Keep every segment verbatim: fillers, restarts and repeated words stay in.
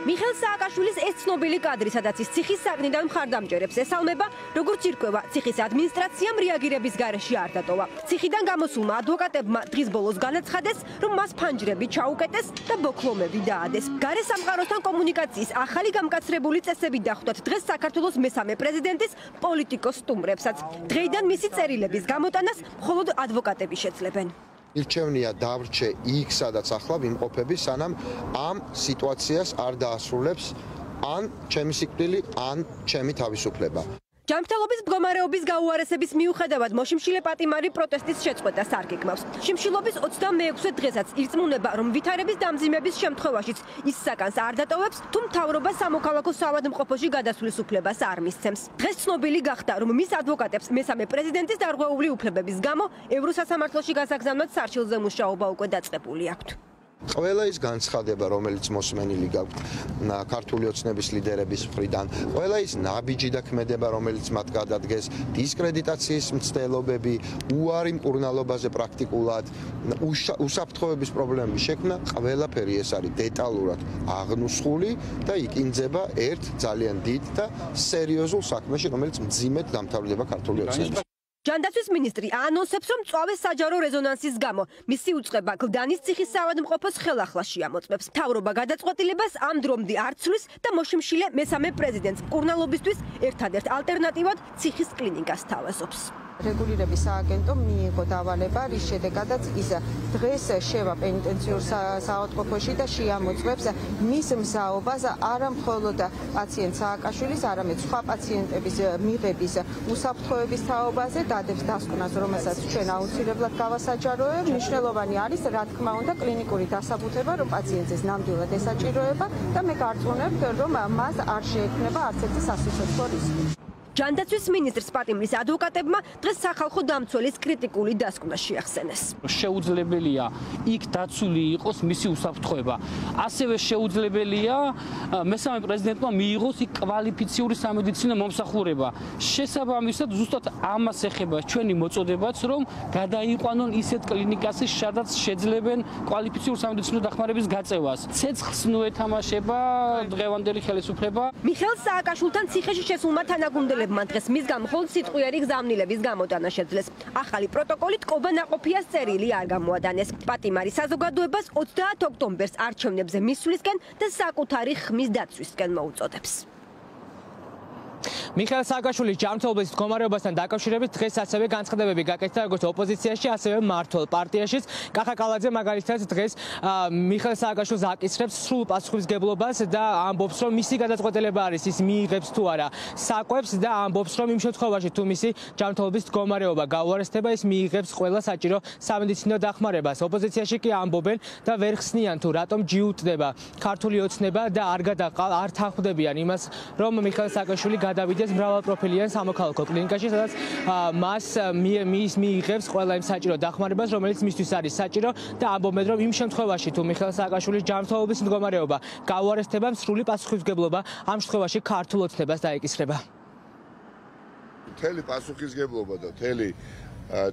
მიხეილ სააკაშვილის ეს ცნობილი კადრი, სადაც ის ციხის საგნიდან მხარდამჭერებს ესალმება, როგორც ირკვევა, ციხის ადმინისტრაციამ რეაგირების გარეშე არ დატოვა. ციხიდან გამოსულმა ადვოკატებმა დღის ბოლოს განაცხადეს, რომ მას ფანჯრები ჩაუკეტეს და ბოქლომები დაადეს. გარე სამყაროსთან კომუნიკაციის ახალი გამკაცრებული წესები დახვდათ დღეს საქართველოს მესამე პრეზიდენტის პოლიტიკოს სტუმრებსაც. დღეიდან მისი წერილების გამოტანას მხოლოდ ადვოკატები შეძლებენ. ირჩევნია დავრჩე იქ, სადაც ახლა ვიმყოფები, სანამ ამ სიტუაციას არ დაასრულებს ან ჩემი სიკვდილი, ან ჩემი თავისუფლება. ჯანმრთელობის მდგომარეობის გაუარესების მიუხედავად მოშიმშილე პატიმარი პროტესტის შეწყვეტას არ გეგმავს. შიმშილობის ოცდამეექვსე დღესაც ირწმუნება, რომ ვითარების დამძიმების შემთხვევაშიც ის საკანს არ დატოვებს, თუ მთავრობა სამოქალაქო საავადმყოფოში გადასვლის უფლებას არ მისცემს. დღეს ცნობილი გახდა, რომ მის ადვოკატებს მესამე პრეზიდენტის დარღვეული უფლებების გამო ევროსასამართლოში გასაგზავნად სარჩილზე მუშაობა უკვე დაწყებული აქვთ. ყველა ის განცხადება, რომელიც მოსმენილი გაქვთ ქართული ოცნების ლიდერების მხრიდან, ყველა ის ნაბიჯი და ქმედება, რომელიც მათ გადადგეს, დისკრედიტაციის მცდელობები, უარი მკურნალობაზე პრაქტიკულად, უსაფრთხოების პრობლემების შექმნა, ყველაფერი ეს არის დეტალურად აღნუსხული და იკინძება ერთ ძალიან დიდ და სერიოზულ საქმეში, რომელიც მძიმედ დამთავრდება ქართული ოცნების. ჯანდაცვის მინისტრი აანონსებს, რომ წვავეს საჯარო რეზონანსის გამო მისი უწყება გლდანის ციხის საავადმყოფოს ხელახლა შეამოწმებს. მთავრობა გადაწყვეტილებას ამ დრომდე არ ცვლის და მოშიმშილე მესამე პრეზიდენტს მკურნალობისთვის ერთადერთ ალტერნატივად ციხის კლინიკას თავაზობს. რეგულირების სააგენტო მიიღო დავალება, რის შედეგადაც ის დღეს შევა პენიტენციურ საავადმყოფოში და შეამოწმებს მის მზაობას არა მხოლოდ პაციენტ სააკაშვილის, არამედ სხვა პაციენტების მიღების უსაფრთხოების თაობაზე, დადებს დასკვნას, რომელსაც ჩვენ აუცილებლად გავასაჯაროებ. მნიშვნელოვანი არის, რა თქმა უნდა, კლინიკური დასაბუთება, რომ პაციენტს ნამდვილად ესაჭიროება და მე გარწმუნებთ, რომ მას არ შეექმნება არც ერთი სასიცოცხლო რისკი. ჯანდაცვის მინისტრს პატიმრის ადვოკატებმა დღეს სახალხო დამცველის კრიტიკული დასკვნა შეახსენეს. შეუძლებელია იქ დაცული იყოს მისი უსაფრთხოება. ასევე შეუძლებელია მესამე პრეზიდენტმა მიიღოს იქ კვალიფიციური სამედიცინო მომსახურება. შესაბამისად, ზუსტად ამას ეხება ჩვენი მოწოდებაც, რომ გადაიყვანონ ისეთ კლინიკას, სადაც შეძლებენ კვალიფიციური სამედიცინო დახმარების გაწევას. ცეცხლს ნუეთამაშება დღევანდელი ხელისუფლება. მიხეილ სააკაშვილთან ციხეში შესულმა თანაგუნდელებმა მან დღეს მისგან მხოლოდ სიტყვიერი გზავნილების გამოტანა შეძლეს. ახალი პროტოკოლით კობა ნაყოფიას წერილი არ გამოადანეს. პატიმარი საზოგადოებას ოცდაათ ოქტომბერს არჩევნებზე მისვლისკენ და საკუთარი ხმის დაცვისკენ მოუწოდებს. მიხეილ სააკაშვილის ჯანმრთელობის მდგომარეობასთან დაკავშირებით დღეს ასევე განცხადებები გაკეთდა როგორც ოპოზიციაში, ასევე მმართველ პარტიაშიც. კახა კალაძე მაგალითად დღეს მიხეილ სააკაშვილს აკისრებს სრულ პასუხისმგებლობას და ამბობს, რომ მისი გადაწყვეტილება არის ის მიიღებს თუ არა საკვებს და ამბობს, რომ იმ შემთხვევაში თუ მისი ჯანმრთელობის მდგომარეობა გაუარესდება, ის მიიღებს ყველა საჭირო სამედიცინო დახმარებას. ოპოზიციაში კი ამბობენ და ვერ ხსნიან თუ რატომ ჯიუტდება ქართული ოცნება და არ გადაყალ არ თანხმდებიან იმას, რომ მიხეილ სააკაშვილი გადავიდეს მრავალპროფილიან სამოქალაქო კლინიკაში, სადაც მას მის მიიღებს ყველა იმ საჭირო დახმარებას, რომელიც მისთვის არის საჭირო და ამბობენ, რომ იმ შემთხვევაში თუ მიხეილ სააკაშვილის ჯანმრთელობის მდგომარეობა გაუარესდება, სრული პასუხისმგებლობა ამ შემთხვევაში ქართულ ოცნებას დაეკისრება. მთელი პასუხისმგებლობა და მთელი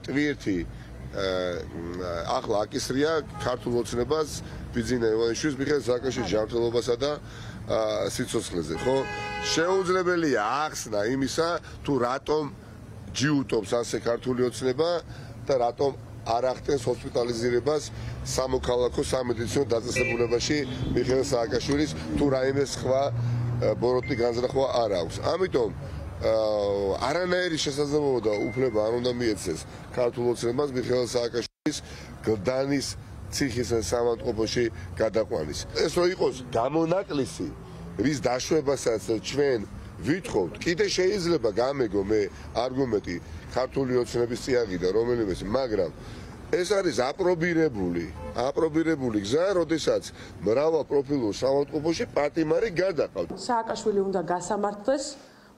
ტვირთი ახლა აკისრია ქართულ ოცნებას ბიძინა ივანიშვილის მიხეილ სააკაშვილის ჯანმრთელობასა და სიცოცხლეზე, ხო? შეუძლებელია ახსნა იმისა, თუ რატომ ჯიუტობს ასე ქართული ოცნება და რატომ არ ახდენს ჰოსპიტალიზირებას სამოქალაქო სამედიცინო დაწესებულებაში მიხეილ სააკაშვილის, თუ რაიმე სხვა ბოროტი განზრახვა არ აქვს. ამიტომ არანაირი შესაძლებლობა და უფლება არ უნდა მიეცეს ქართულ ოცნებას მიხეილ სააკაშვილის გლდანის ციხის საავადმყოფოში გადაყვანის. ეს რო იყოს გამონაკლისი, რის დაშვებასაც ჩვენ ვითხოვთ, კიდე შეიძლება გამეგო მე არგუმენტი ქართული ოცნების წიაღიდან რომელიმეს, მაგრამ ეს არის აპრობირებული, აპრობირებული გზა, როდესაც მრავალპროფილურ საავადმყოფოში პატიმარი გადაყავთ. სააკაშვილი უნდა გასამართლდეს,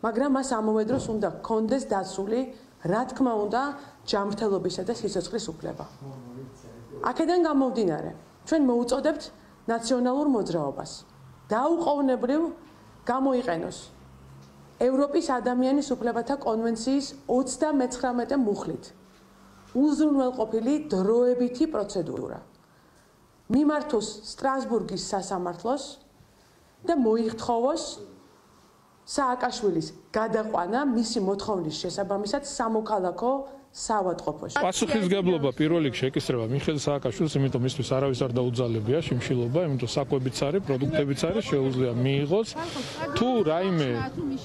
მაგრამ მას ამავე დროს უნდა გქონდეს დაცული, რა თქმა უნდა, ჯანმრთელობისა და სიცოცხლის უფლება. აქედან გამომდინარე, ჩვენ მოუწოდებთ ნაციონალურ მოძრაობას. დაუყოვნებლივ გამოიყენოს ევროპის ადამიანის უფლებათა კონვენციის ოცდამეცხრამეტე მუხლით უზრუნველყოფილი დროებითი პროცედურა. მიმართოს სტრასბურგის სასამართლოს და მოიხთხოვოს სააკაშვილის გადაყვანა მისი მოთხოვნის შესაბამისად სამოქალაქო საავადმყოფოში. პასუხისგებლობა პირველ რიგში ეკისრება მიხეილ სააკაშვილს, იმიტომ მისთვის არავის არ დაუძალებია შიმშილობა, იმიტომ საკვებიც არის, პროდუქტებიც არის, შეუძლია მიიღოს. თუ რაიმე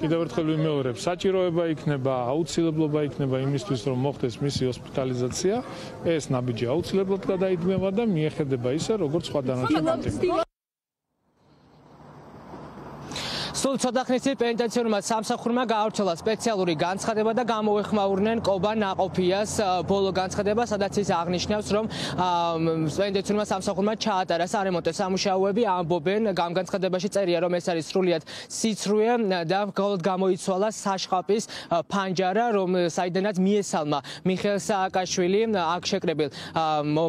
კიდევ ერთხელ ვიმეორებ, საჭიროება იქნება, აუცილებლობა იქნება იმისთვის, რომ მოხდეს მისი ჰოსპიტალიზაცია, ეს ნაბიჯი აუცილებლად გადაიდგება და მიეხედება ისე, როგორც სხვა დანარჩენ პატიმრებს. სულ ცოტა ხნის წინ პენიტენციურმა სამსახურმა გაავრცელა სპეციალური განცხადება და გამოეხმაურნენ კობა ნაყოფიას ბოლო განცხადება, სადაც ის აღნიშნავს, რომ პენიტენციურმა სამსახურმა ჩაატარა სარემონტო სამუშაოები, ამბობენ, ამ განცხადებაში წერია, რომ ეს არის სრულიად სიცრუე და მხოლოდ გამოიცვალა საშყაპის ფანჯარა, რომ საიდანაც მიესალმა მიხეილ სააკაშვილი აქ შეკრებილ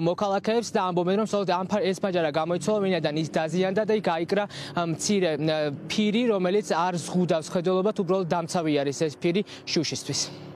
მოქალაქეებს და ამბობენ, რომ მხოლოდ ეს ფანჯარა გამოიცვალა, ვინაიდან ის დაზიანდა და იქ აიკრა მცირე ფირი, რომელიც არ ზღუდავს ხედველობას, უბრალოდ დამცავი არის ეს ფირი შუშისთვის.